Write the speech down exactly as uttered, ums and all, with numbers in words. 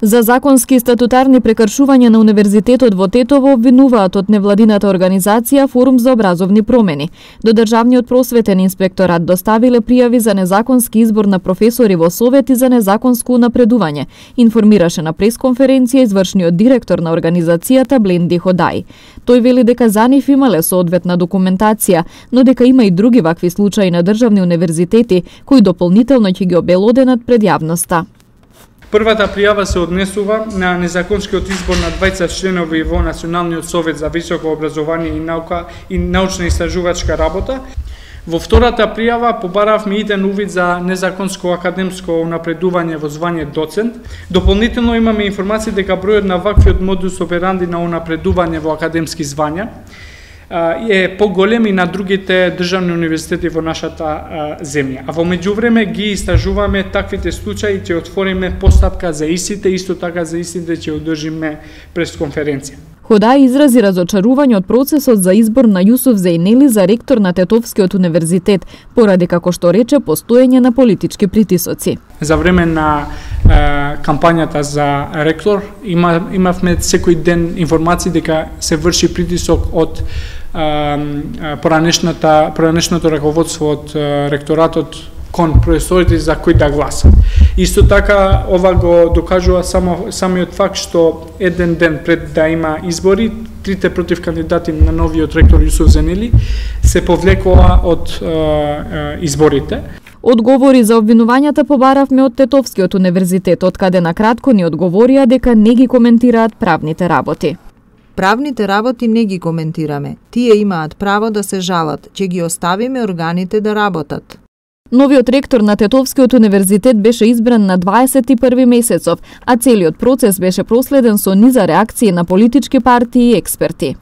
За законски и статутарни прекршувања на Универзитетот во Тетово обвинуваат од невладината организација Форум за образовни промени. До Државниот просветен инспекторат доставиле пријави за незаконски избор на професори во Совет и за незаконско унапредување, информираше на пресконференција извршниот директор на организацијата Бленди Ходај. Тој вели дека за нив имале соодветна документација, но дека има и други вакви случаи на државни универзитети кои дополнително ќе ги обелоденат пред јавноста. Првата пријава се однесува на незаконскиот избор на двајцет членови во Националниот совет за високо образование и наука и научна истражувачка работа. Во втората пријава побаравме иден увид за незаконско академско унапредување во звање доцент. Дополнително имаме информација дека бројот на ваквиот модус операнди на унапредување во академски звања е поголем и на другите државни универзитети во нашата земја. А во меѓувреме ги истражуваме таквите случаи, ќе отвориме постапка за истите, исто така за истите ќе одржиме пресконференција. Ходај изрази разочарување од процесот за избор на Јусуф Зејнели за ректор на Тетовскиот универзитет, поради, како што рече, постоење на политички притисоци. За време на е, кампањата за ректор има, имавме секој ден информации дека се врши притисок од е, поранешната, поранешното раководство од е, ректоратот кон професорите за кои да гласат. Исто така, ова го докажува само самиот факт што еден ден пред да има избори, трите против кандидати на новиот ректор Јусуф Зејнели се повлекоа од е, е, изборите. Одговори за обвинувањата побаравме од Тетовскиот универзитет, од каде на кратко ни одговорија дека не ги коментираат правните работи. Правните работи не ги коментираме. Тие имаат право да се жалат, ќе ги оставиме органите да работат. Новиот ректор на Тетовскиот универзитет беше избран на дваесет и први месецов, а целиот процес беше проследен со низа реакции на политички партии и експерти.